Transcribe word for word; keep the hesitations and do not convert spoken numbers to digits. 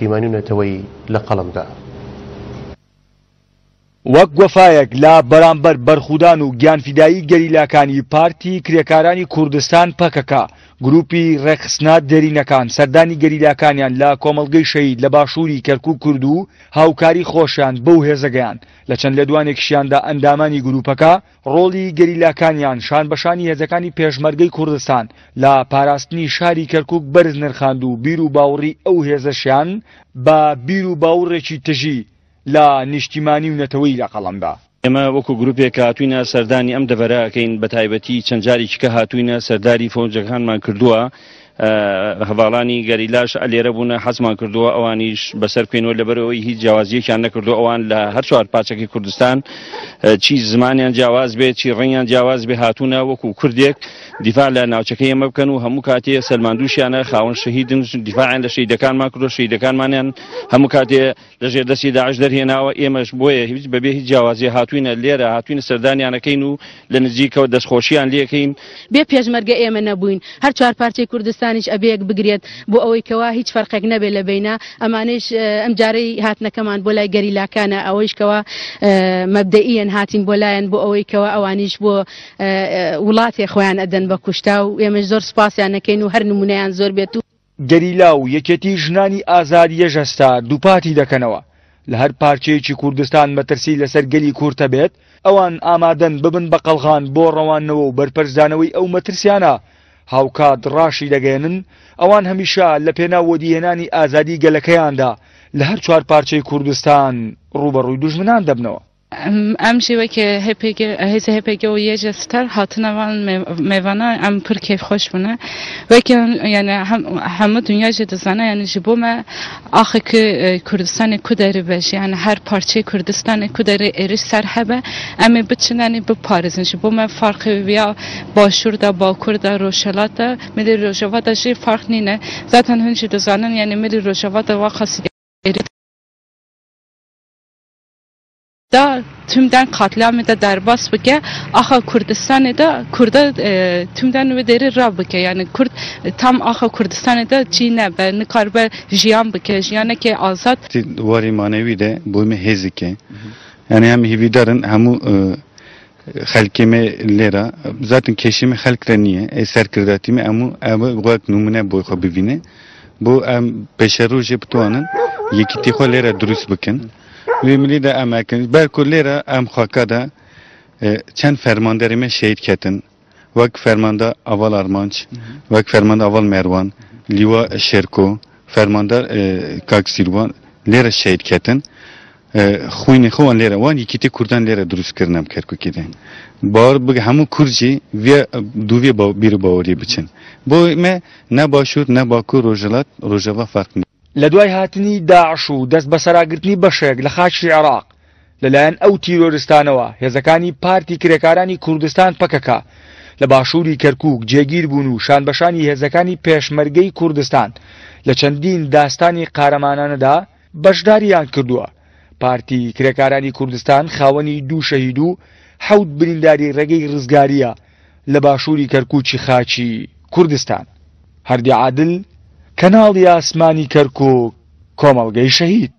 نیشتیمانی و نەتەوەیی لە قەڵەمدا. وەک وەفایەک لە بەرامبەر بەرخودان و گیانفیدایی گەریلاکانی پارتی کرێکارانی کوردستان پەکەکە، گروپی ڕێکخستنە دێرینەکان سەردانی گەریلاکانیان لە کۆمەڵگەی شەهید لە باشووری کەرکوک کرد و هاوکاری خۆشیان بەو هێزەگەیان. لە چەند لێدوانێکیشیاندا ئەندامانی گروپەکە ڕۆڵی گەریلاکانیان شان بەشانی هێزەکانی پێشمەرگەی کوردستان لە پاراستنی شاری کەرکوک بەرز نرخاند و بیر و باوەڕی ئەو هێزەشیان بە بیر و باوەڕێکی تژی لە نیشتیمانی و نەتەوەیی لە قەڵەمدا. ئێمە وەکو گروپێک هاتوینە سەردانی ئەم دەڤەرە ئەکەین، بە تایبەتی چەند جارێکی کە هاتوینە سەرداری فەوجەکانمان کردووە، هەڤاڵانی گەریلاش لێرە بوونە، حەزمان کردووە ئەوانیش بەسەر بکەینەوە، لەبەرەوەی هیچ جیاوازیەکیان نەکردو. ئەوان لە هەر چوار پارچەکەی کوردستان چی زمانیان جیاواز بێ چی ڕەنگیان جیاواز بێ هاتوونە وەکو کوردێک دیفاع لە ناوچەکەی ئێمە بکەن و هەموو کاتێ سەلماندووشیانە خاوەن شەهیدن، دیفاعیان لە شەهیدەکانمان کردو، شەهیدەکانمانیان هەموو کاتێ لەژێر دەستی داعش دەرهێناوە. ئێمەش بۆیە هیچ بەبێ هیچ جیاوازی هاتوینە لێرە، هاتوینە سەردانیانەکەین و لە نزیکەوە دەستخۆشیان لێکەین. بێ پێشمەرگە ئێمە نەبووین، هەر چوار پارچەی کوردستانیش ئەبێک بگرێت بۆ ئەوەی کەوا هیچ فەرقێک نەبێت لە بینە. ئەمانەیش ئەم جارەی هاتنەکەمان بۆ لای گەریلاکانە، ئەوەیش کەوا مەبدەئیەن هاتین بۆ لایەن بۆ ئەوەی کەوا ئەوانیش بۆ وڵاتێ خۆیان ئەدەن بە کوشتا و ئێمەش زۆر سوپاسیان نەکەین و هەر نمونەیان زۆر بێت. و گەریلا و یەکێتی ژنانی ئازاد یەژەستا دووپاتی دەکەنەوە لە هەر پارچەیەکی کوردستان مەترسی لەسەر گەلی کورتە بێت، ئەوان ئامادەن ببن بە قەڵغان بۆ ڕەوانەوە و بەرپەرچدانەوەی ئەو مەترسیانە. هاوکات ڕاشی دەگەێنن ئەوان هەمیشە لە پێناو وەدیهێنانی ئازادی گەلەکەیاندا لە هەر چوار پارچەی کوردستان ڕووبەڕووی دوژمنان دەبنەوە. ئەم شێوە کە هێزە هەپێگە و یەژە ستار هاتنەوان مێوانە ئەم پر کەیف خۆش بوونە، وەکە یعنی هەموو دنیا ژێ دەزانە، یعنی ji بۆ me ئاخێک کوردستانی کو دەرێ بێژ، یعنی هەر پارچەی کوردستانی کو دەرێ ئێرش سەر هەبە ئەمێ بچن یعنی بپارێزن. ji بۆ me فەرقی یا باشووردا باکووردا ڕۆژهەڵاتدا ملی ڕۆژاوادا ژێ فەرق نینە. زاتەن هون ژی دەزانن یعنی ملی ڕۆژاوادا وا خاصی da tümden katliamı da derbas bike, axa Kurdistanê da Kurda tümden wê derê ra bike, yani Kurd tam axa Kurdistanê da çî nebe nikarbe jiyan bike, jiyaneke azad. Warê manewî de bo me hêzike, yani hem hêvîdarin hemû xelkê me lêra zaten kêşê me xelk re niye, ê serkirdatî me hemû ew wek numune bo xwe bibîne, bo em pêşerojê bituanin yekîtî xwe lêra dirust bikin. Wê milî de em ekin belku lêra em xaka da çend fermanderê me şehîd ketin, wek fermanda Aval Armanç, wek fermanda Aval Merwan, Lîwa Şêrko, fermandar Kak Sîrwan lêra şehîd ketin. Xwînê xwe wan lêra wan yekîtî Kurdan lêra dirust kirin em Kerkûkê de. Bawer bike hemû Kurd jî vê dûvê bîr û baweriyê biçin. Bo me ne başûr ne bakur rojhilat rojava ferq nîne. لە دوای هاتنی داعش و دەست بەسەراگرتنی بەشێک لە خاکی عێراق لەلایەن ئەو تیرۆریستانەوە هێزەکانی پارتی کرێکارانی کوردستان پەکەکە لە باشووری کەرکوک جێگیر بوون و شانبەشانی هێزەکانی پێشمەرگەی کوردستان لە چەندین داستانی قارەمانانەدا بەشداریان کردووە. پارتی کرێکارانی کوردستان خاوەنی دوو شەهید و حەوت برینداری ڕێگەی ڕزگاریە لە باشووری کەرکوکی خاکی کوردستان. هەردی عادل، کەناڵی ئاسمانی کەرکوک، کۆمەڵگەی شەهید.